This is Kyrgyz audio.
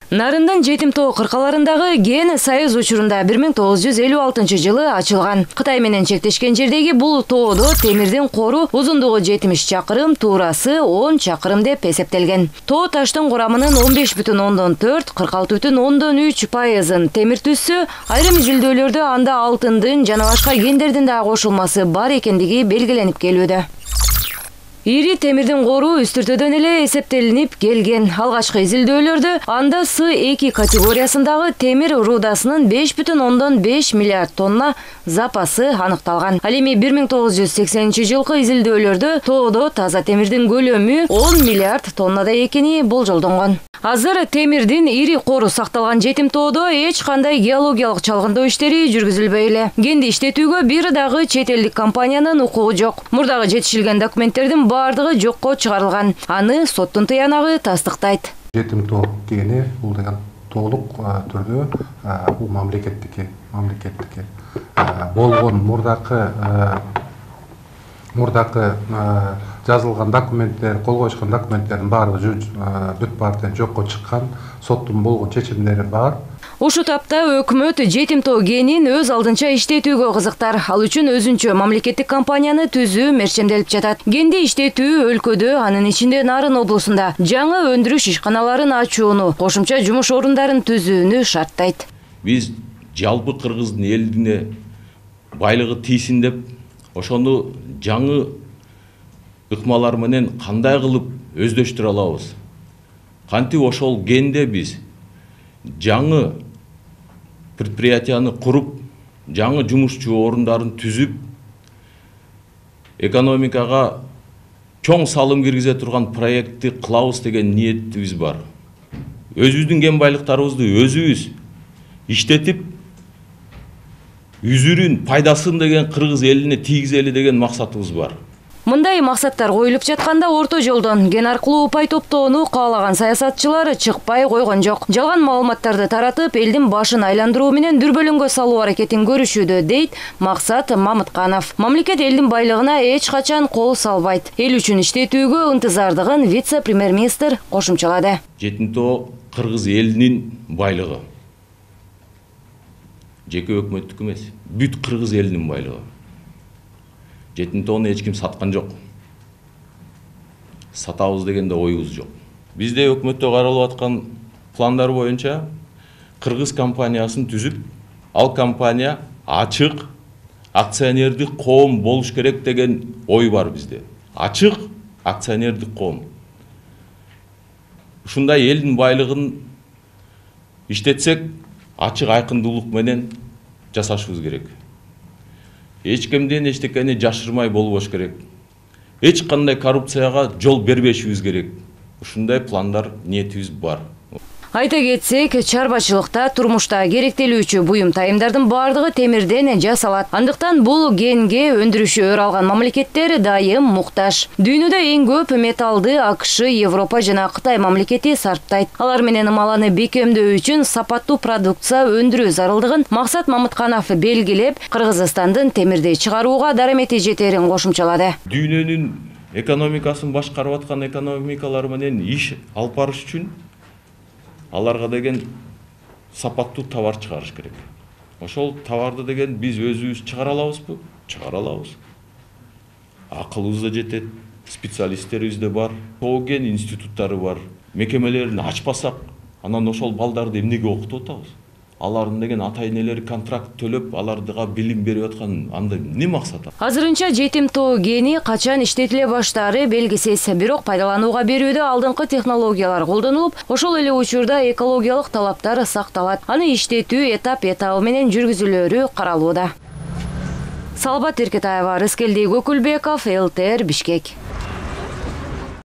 Нарындын Жетим тоо кыркаларындагы ген союз учурунда 1956-жылы ачылган. Кытай менен чектешкен жердеги бул тоодо темирдин кору узундугу 70 чакырым, туурасы 10 чакырым деп эсептелген. Тоо таштын курамынын 15,4, 46,3% темир түссө, айрым изилдөөлөрдө анда алтындын жана башка гендердин да кошулмасы бар экендиги белгиленип келүүдө. Ири темирдин кору үстүртөдөн эле эсептелинип келген. Алгачкы изилдөөлөрдө анда С2 категориясындагы темир рудасынын 5,5 миллиард тонна запасы аныкталган. Ал эми 1980-жылкы изилдөөлөрдө тоодо таза темирдин көлөмү 10 миллиард тоннада экени болжолдонгон. Азыр темирдин ири кору сакталган Жетим тоодо эч кандай геологиялык чалгындоо иштери жүргүзүлбөй эле. Генди иштетүүгө бир дагы чет элдик компаниянын укугу жок. Мурдагы жетишилген документтердин бардыгы жокко чыгарылган. Аны соттун тыянагы тастыктайт. Жетим тоо гени бул деген толук түрдө бул мамлекеттики болгон мурдакы жазылган документтер, кол коюшкан документтердин баардыгы бүт баардыгы жокко чыккан, соттун болгон чечимдери бар. Ушул тапта өкмөт Жетим тоо генин өз алдынча иштетүүгө кызыктар. Ал үчүн өзүнчө мамлекеттик компанияны түзүү мерчемделип жатат. Генди иштетүү өлкөдө, анын ичинде Нарын облусунда жаңы өндүрүш ишканаларын ачууну, кошумча жумуш орундарын түзүүнү шарттайт. Биз жалпы кыргыздын элине байлыгы тийсин деп, ошону жаңы ыкмалар менен кандай кылып өздөштүрө алабыз? Кантип ошол генде биз жаңы предприятияны куруп, жаңы жумушчу орундарын түзүп, экономикага чоң салым киргизе турган проектти кылабыз деген ниетибиз бар. Өзүбүздүн ген байлыктарыбызды өзүбүз иштетип, үзүрүн, пайдасын деген кыргыз элине тийгизели деген максатыбыз бар. Мындай максаттар коюлуп жатканда орто жолдон ген аркылуу упай топтоону каалаган саясатчылар чыкпай койгон жок. Жалган маалыматтарды таратып, элдин башын айландыруу менен дүрбөлөңгө салуу аракетин көрүшүүдө, дейт Максат Мамытканов. Мамлекет элдин байлыгына эч качан кол салбайт. Эл үчүн иштетүүгө ынтызардыгын вице-премьер-министр кошумчалады. Жетим тоо кыргыз элинин байлыгы. Жеке өкмөттүк эмес, бүт кыргыз элинин байлыгы. Жетим тоону эч ким саткан жок. Сатабыз деген да оюбуз жок. Бизде өкмөттө каралып аткан пландар боюнча кыргыз компаниясын түзүп, ал компания ачык акционердик коом болуш керек деген ой бар бизде. Ачык акционердик коом. Ушундай элдин байлыгын иштетсек, ачык айкындуулук менен жасашыбыз керек. Эч кимден эчтекени жашырмай болбош керек. Эч кандай коррупцияга жол бербешибиз керек. Ушундай пландар, ниетибиз бар. Айта кетсек, чарбачылыкта, турмушта керектелүүчү буюм тайымдардын бардыгы темирден жасалат. Андыктан бул генге өндүрүшү өр алган мамлекеттер дайым муктаж. Дүйнөдө эң көп металлды АКШ, Европа жана Кытай мамлекети сарптайт. Алар менен ымаланы бекемдөө үчүн сапаттуу продукция өндүрүү зарылдыгын Максат Мамытканов белгилеп, Кыргызстандын темирди чыгарууга дарамети жетерин кошумчалады. Дүйнөнүн экономикасын башкарып аткан экономикалар менен иш алып барыш үчүн аларга деген сапаттуу товар чыгарыш керек. Ошол товарды деген биз өзүбүз чыгара алабызбы? Чыгара алабыз. Акылыбыз да жетет, специалисттерибиз да бар, тоо ген институттары бар. Мекемелерин ачпасак, анан ошол балдарды эмнеге окутуп атабыз? Алардын деген ата-энелери контракт төлөп, алардыга билим берип аткан анда эмне максат? Азырынча Жетим тоо гени качан иштетиле баштаары белгисиз. Бирок пайдаланууга берүүдө алдыңкы технологиялар колдонулуп, ошол эле учурда экологиялык талаптар сакталат. Аны иштетүү этап менен жүргүзүлөөрү каралууда. Салбат Эркетаева, Рыскелди Көкүлбеков, ЛТР, Бишкек.